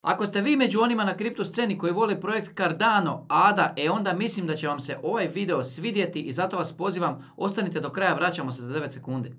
Ako ste vi među onima na kripto sceni koji vole projekt Cardano, ADA, onda mislim da će vam se ovaj video svidjeti i zato vas pozivam, ostanite do kraja, vraćamo se za 9 sekundi.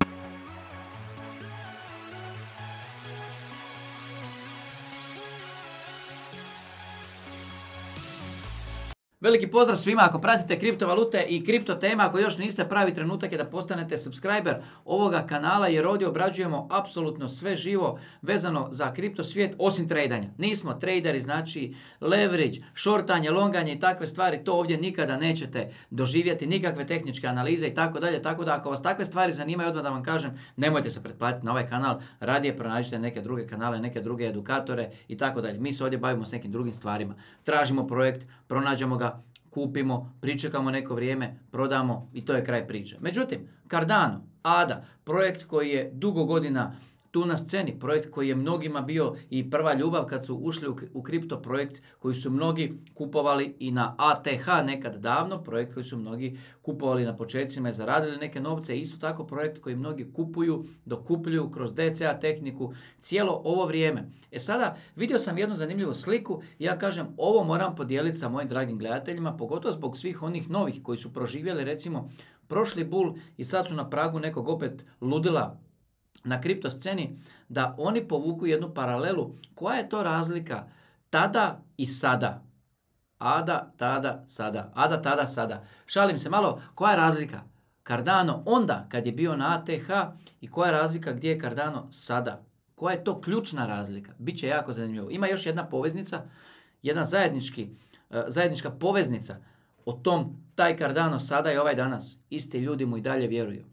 Veliki pozdrav svima, ako pratite kriptovalute i kripto tema, ako još niste, pravi trenutak je da postanete subscriber ovoga kanala jer ovdje obrađujemo apsolutno sve živo vezano za kripto svijet osim tradanja. Nismo traderi, znači leverage, shortanje, longanje i takve stvari, to ovdje nikada nećete doživjeti, nikakve tehničke analize i tako dalje, tako da ako vas takve stvari zanimaju, odmah da vam kažem, nemojte se pretplatiti na ovaj kanal, radije pronađite neke druge kanale, neke druge edukatore i tako dalje. Mi se ovdje bavimo s nekim drugim stvarima. Tražimo projekt, pronađemo ga, kupimo, pričekamo neko vrijeme, prodamo i to je kraj priče. Međutim, Cardano, ADA, projekt koji je dugo godina tu na sceni, projekt koji je mnogima bio i prva ljubav kad su ušli u kripto projekt koji su mnogi kupovali i na ATH nekad davno, projekt koji su mnogi kupovali na početcima i zaradili neke novce, isto tako projekt koji mnogi kupuju, dokupljuju kroz DCA tehniku cijelo ovo vrijeme. Sada vidio sam jednu zanimljivu sliku i ja kažem ovo moram podijeliti sa mojim dragim gledateljima, pogotovo zbog svih onih novih koji su proživjeli recimo prošli bull i sad su na pragu nekog opet ludila na kripto sceni, da oni povuku jednu paralelu. Koja je to razlika tada i sada? ADA, tada, sada. ADA, tada, sada. Šalim se malo, koja je razlika? Cardano onda kad je bio na ATH i koja je razlika gdje je Cardano sada? Koja je to ključna razlika? Biće jako zanimljivo. Ima još jedna poveznica, jedna zajednička poveznica o tom, taj Cardano sada i ovaj danas. Isti ljudi mu i dalje vjeruju.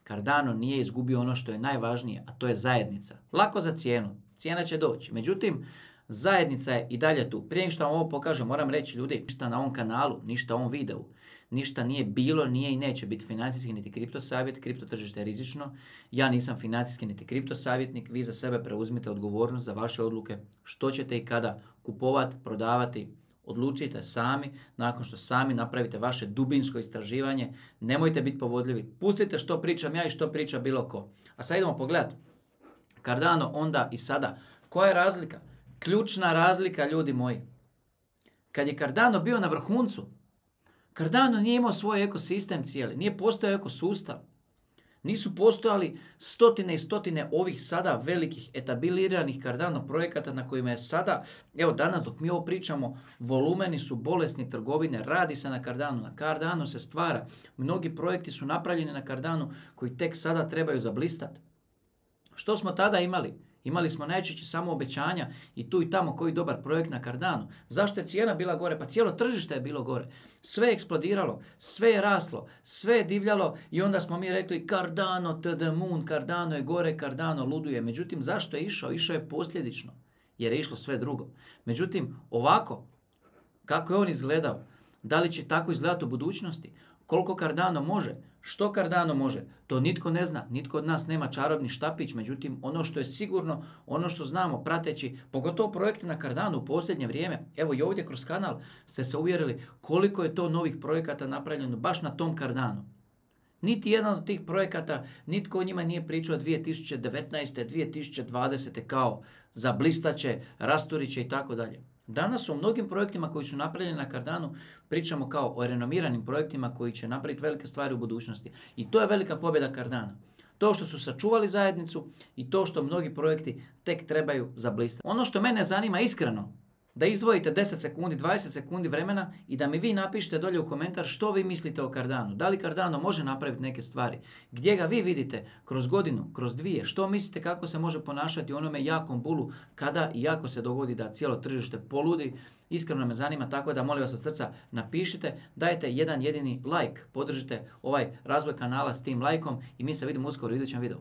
Cardano nije izgubio ono što je najvažnije, a to je zajednica. Lako za cijenu. Cijena će doći. Međutim, zajednica je i dalje tu. Prije nego što vam ovo pokažem, moram reći ljudi, ništa na ovom kanalu, ništa u ovom videu, ništa nije bilo, nije i neće biti financijski niti kripto savjet. Kripto tržište je rizično. Ja nisam financijski niti kripto savjetnik. Vi za sebe preuzmite odgovornost za vaše odluke. Što ćete i kada kupovati, prodavati. Odlučite sami, nakon što sami napravite vaše dubinsko istraživanje, nemojte biti povodljivi, pustite što pričam ja i što priča bilo ko. A sad idemo pogledati. Cardano onda i sada. Koja je razlika? Ključna razlika, ljudi moji. Kad je Cardano bio na vrhuncu, Cardano nije imao svoj ekosistem cijeli, nije postojao ekosustav. Nisu postojali stotine i stotine ovih sada velikih etabliranih Cardano projekata na kojima je sada, evo danas dok mi ovo pričamo, volumeni su bolesni trgovine, radi se na Cardano, na Cardano se stvara. Mnogi projekti su napravljeni na Cardano koji tek sada trebaju zablistati. Što smo tada imali? Imali smo najčešće samo obećanja i tu i tamo koji dobar projekt na Cardano. Zašto je cijena bila gore? Pa cijelo tržište je bilo gore. Sve je eksplodiralo, sve je raslo, sve je divljalo i onda smo mi rekli Cardano to the moon, Cardano je gore, Cardano luduje. Međutim, zašto je išao? Išao je posljedično jer je išlo sve drugo. Međutim, ovako, kako je on izgledao? Da li će tako izgledati u budućnosti? Koliko Cardano može? Što Cardano može? To nitko ne zna. Nitko od nas nema čarobni štapić. Međutim, ono što je sigurno, ono što znamo prateći, pogotovo projekte na Cardano u posljednje vrijeme, evo i ovdje kroz kanal ste se uvjerili koliko je to novih projekata napravljeno baš na tom Cardano. Niti jedan od tih projekata, nitko o njima nije pričao 2019. 2020. kao zablistaće, rasturiće i tako dalje. Danas o mnogim projektima koji su napravljeni na Cardano pričamo kao o renomiranim projektima koji će napraviti velike stvari u budućnosti. I to je velika pobjeda Cardana. To što su sačuvali zajednicu i to što mnogi projekti tek trebaju zablistati. Ono što mene zanima iskreno, da izdvojite 10 sekundi, 20 sekundi vremena i da mi vi napišete dolje u komentar što vi mislite o Cardano. Da li Cardano može napraviti neke stvari? Gdje ga vi vidite kroz godinu, kroz dvije? Što mislite kako se može ponašati u onome jakom bulu kada i ako se dogodi da cijelo tržište poludi? Iskreno me zanima, tako da molim vas od srca napišite, dajte jedan jedini like, podržite ovaj razvoj kanala s tim lajkom i mi se vidimo uskoro u idućem videu.